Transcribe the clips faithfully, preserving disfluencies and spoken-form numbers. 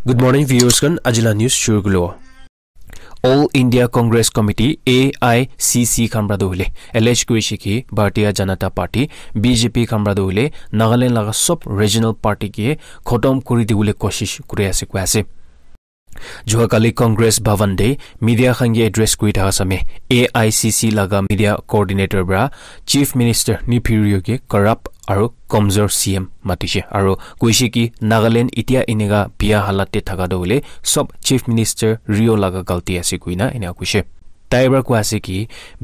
Good morning, viewers khan. Ajila news shuru kulo. All India Congress Committee, A I C C khan pra tu hoile allege kurishe ki Bharatiya Janata Party, B J P khan pra tu hoile Nagaland laga sob regional party ke khotom kuri dibole koshish kuri ase koi ase. Jua kali Congress Bhavan te media khan ke address kuri thaka same A I C C laga media coordinator pra Chief Minister Neiphiu Rio ke corrupt aru komzor C M matishe aru koishe ki Nagaland itia eneka biya halat te thaka tu hoile sob Chief Minister Rio laga galti ase koina eneka koishe. Tai pra koi ase ki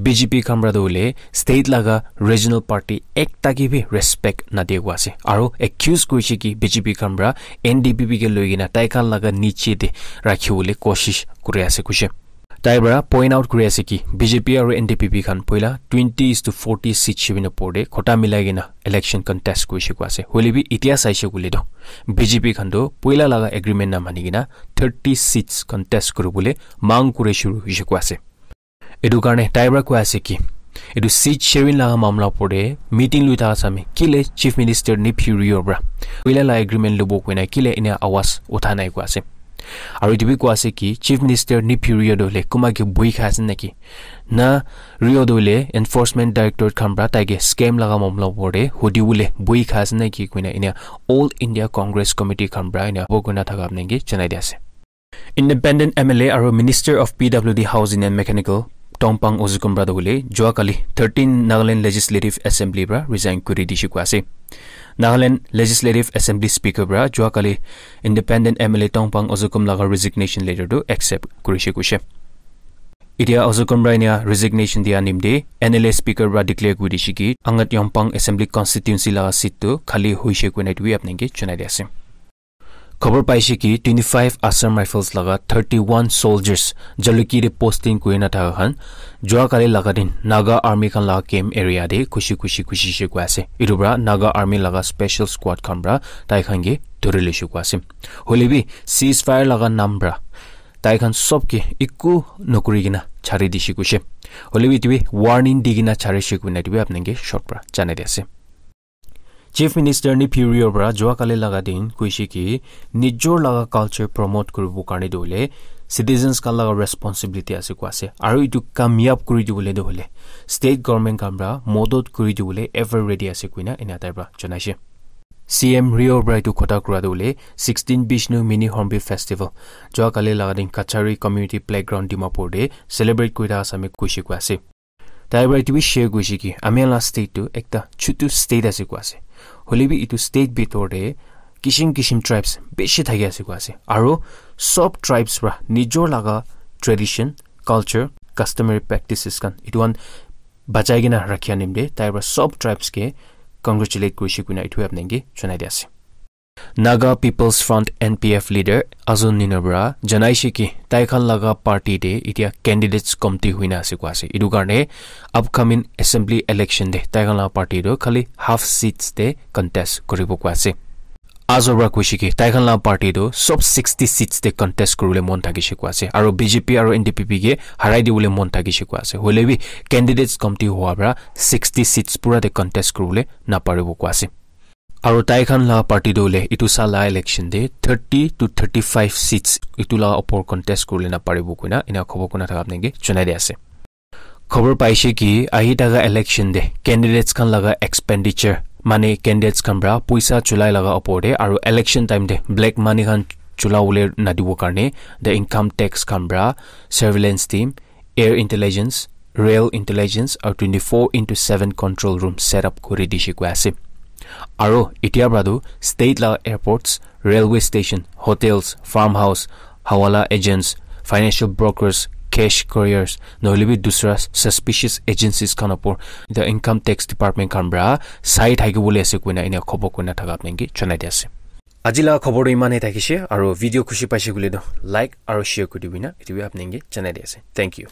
B J P khan pra tu hoile state laga regional party ekta ke bi respect nadia koi ase aru accuse koishe ki B J P khan pra N D P P ke loi kena tai khan laga niche te rakhi bole koshish kuri ase koishe. Tai pra point out kuri ase ki B J P aru N D P P khan poila twenty is to forty seat shibin opor te khota milai kena election contest kurishe koi ase. Hoile bi itia saishe koile toh B J P khan toh poila laga agreement na mani kena thirty seats contest kuribole mang kure shuru hoishe koi ase. Etu karne tai pra koi ase ki etu seat sharing laga mamla opor te meeting lui thaka same kile Chief Minister Neiphiu Rio pra poila la agreement lobo koina kile ena awaz utha nai koi ase. Aru etu bi koi ase ki Chief Minister Neiphiu Rio toh hoile kunba ke bui kha ase naki? Na Rio toh hoile Enforcement Directorate khan pra tai ke scam laga mamla opor te hudi bole bui kha ase naki koina ena All India Congress Committee khan pra ena bo koina thaka apni ke janai di ase. Independent M L A aru Minister of P W D Housing and Mechanical Tongpang Ozukum pra tu hoile jua kali thirteen Nagaland Legislative Assembly pra resign kuri dishe koi ase. Nagaland Legislative Assembly Speaker pra jua kali Independent M L A Tongpang Ozukum laga resignation letter tu accept kurishe koishe. Itia Ozukum pra enia resignation dia nimte N L A Speaker pra declare kuri dishe ki Angat Yongpang Assembly Constituency laga seat tu khali hoishe koina etu bi apni ke janai di ase. Khobor paishe ki twenty-five Assam Rifles laga thirty-one soldiers Jalukie te posting kuri na thaka khan jua kali laga din Naga Army khan laga camp area te khushi khushi khushi she koi ase. Etu pra Naga Army laga special squad khan pra tai khan ke dhuri le she koi ase. Hoile bi ceasefire laga nam pra tai khan sob ke eku nokuri kena chari dishe koishe. Hoile bi etu bi warning di kena chari she koina etu bi apni ke short pra janai di ase. Chief Minister Neiphiu Rio pra jua kali laga din koishe ki nijor laga culture promote kuribo karne tu hoile citizens khan laga responsibility ase koi ase aru etu kamyab kuri dibole tu hoile state government khan pra modot kuri dibole ever ready ase koina ena tai pra janaishe. C M Rio pra etu khota kura tu hoile sixteen Bishnu Mini Hornbill Festival jua kali laga din Kachari Community Playground Dimapur te celebrate kuri thaka same koishe koi ase. Tai pra etu bi share kurishe ki ami la state tu ekta chutu state ase koi ase. Hoile bi etu state bitor te kishim kishim tribes bishi thaki ase koi ase. Aru sob tribes pra nijor laga tradition, culture, customary practices khan etu khan bachai kena rakhi anim te tai pra sob tribes ke congratulate kurishe koina etu apni ke janai di ase. Naga People's Front, N P F, leader Azon Nino pra janaishe ki tai khan laga party te itia candidates komti huina ase koi ase. Etu karne upcoming assembly election te tai khan laga party tu khali half seats te contest kuribo koi ase. Azon pra koishe ki tai khan laga party tu sob sixty seats te contest kuribole mon thakishe koi ase. Aru B J P aru N D P P ke harai dibole mon thakishe koi ase. Hoile bi candidates komti hua pra sixty seats pura te contest kuribole naparibo koi ase. Aru tai khan la party tu hoile etu sala election te thirty to thirty-five seats etu la opor contest kuribole na paribo koina ena khobor kurina thaka apni ke janai di ase. Khobor paishe ki ahi thaka election te candidates khan laga expenditure mane candidates khan pra poisa chulai laga opor te aru election time te black money khan chula bole na dibo karne the income tax khan pra surveillance team, air intelligence, rail intelligence aru twenty-four into seven control room set up kuri dishe koi ase. Aru itia pra tu state la airports, railway station, hotels, farmhouse, hawala agents, financial brokers, cash couriers nohole bi dusra suspicious agencies khan opor the income tax department khan pra sai thaki bole ase koina ena khobor kurina thaka apni ke janai di ase. Aji la khobor tu iman he thakishe aru video khushi paishe koile tu like aru share kuri dibi na etu bi apni ke janai di ase. Thank you.